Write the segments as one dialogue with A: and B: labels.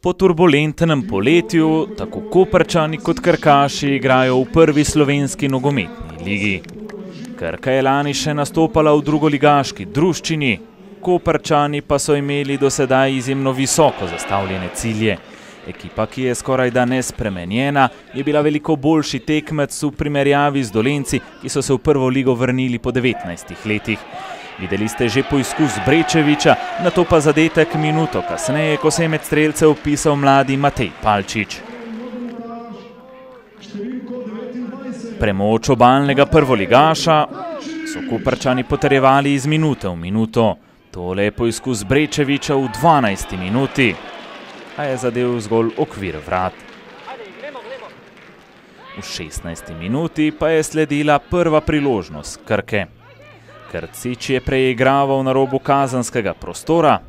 A: Po turbulentnem poletju tako Koprčani kot Krkaši igrajo v prvi slovenski nogometni ligi. Krka je lani še nastopala v drugoligaški druščini, Koprčani pa so imeli do sedaj izjemno visoko zastavljene cilje. Ekipa, ki je skorajda nespremenjena, je bila veliko boljši tekmec v primerjavi z Dolenjci, ki so se v prvo ligo vrnili po 19 letih. Videli ste že poizkus Brečeviča, nato pa zadetek minuto kasneje, ko se je med strelce vpisal mladi Matej Palčič. Premoč obalnega prvoligaša so Koprčani potrjevali iz minute v minuto. Tole je poizkus Brečeviča v 12. minuti, a je zadel zgolj okvir vrat. V 16. minuti pa je sledila prva priložnost Krke. Krcič je preigraval na robu kazenskega prostora,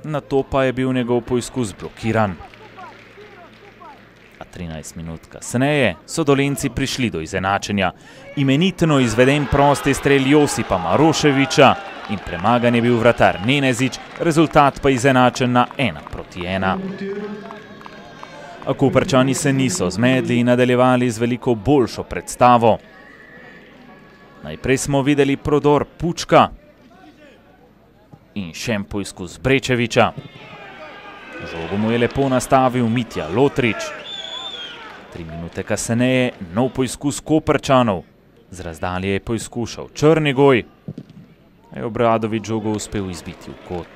A: nato pa je bil njegov poizkus blokiran. A 13 minut kasneje so Dolenjci prišli do izenačenja. Imenitno izveden prosti strel Josipa Maroševiča in premagan je bil vratar Nenezič, rezultat pa izenačen na 1:1. A Koprčani se niso zmedli in nadaljevali z veliko boljšo predstavo. Najprej smo videli prodor Pučka in še en poizkus Brečeviča. Žogo mu je lepo nastavil Mitja Lotrič. 3 minute kasneje nov poizkus Koprčanov. Z razdalje je poizkušal Črnigoj, a je Obradović žogo uspel izbiti v kot.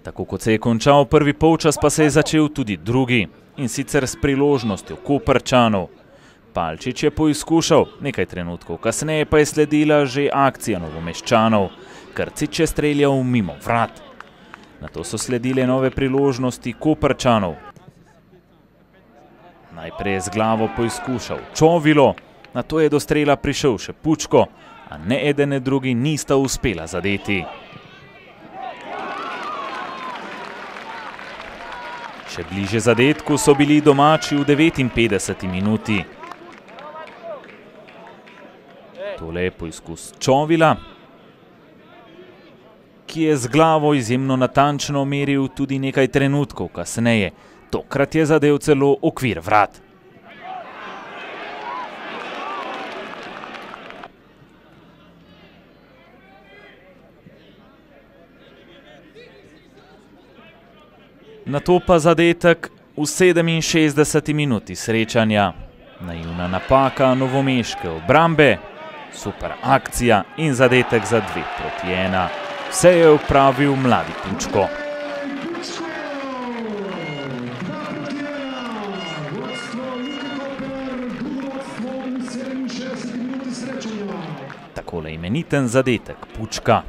A: Tako kot se je končal prvi polčas, pa se je začel tudi drugi, in sicer s priložnostjo Koprčanov. Palčič je poizkušal, nekaj trenutkov kasneje pa je sledila že akcija Novomeščanov. Krcič je streljal mimo vrat. Nato so sledile nove priložnosti Koprčanov. Najprej je z glavo poizkušal Čovilo, nato je do strela prišel še Pučko, a ne eden ne drugi nista uspela zadeti. Še bliže zadetku so bili domači v 59. minuti. Tole je poizkus Čovila, ki je z glavo izjemno natančno meril tudi nekaj trenutkov kasneje. Tokrat je zadel celo okvir vrat. Nato pa zadetek v 67. minuti srečanja. Naivna napaka novomeške obrambe, super akcija in zadetek za 2:1. Vse je opravil mladi Pučko. Takole imeniten zadetek Pučka.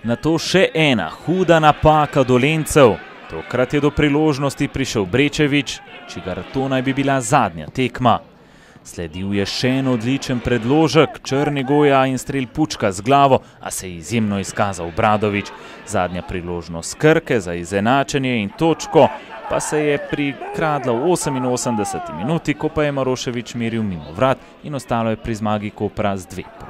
A: Nato še ena huda napaka Dolenjcev. Tokrat je do priložnosti prišel Brečevič, čigar to naj bi bila zadnja tekma. Sledil je še en odličen predložek Črnigoja in strel Pučka z glavo, a se je izjemno izkazal Obradović. Zadnja priložnost Krke za izenačenje in točko pa se je prikradla v 88. minuti, ko pa je Maroševič meril mimo vrat in ostalo je pri zmagi Kopra z 2:1.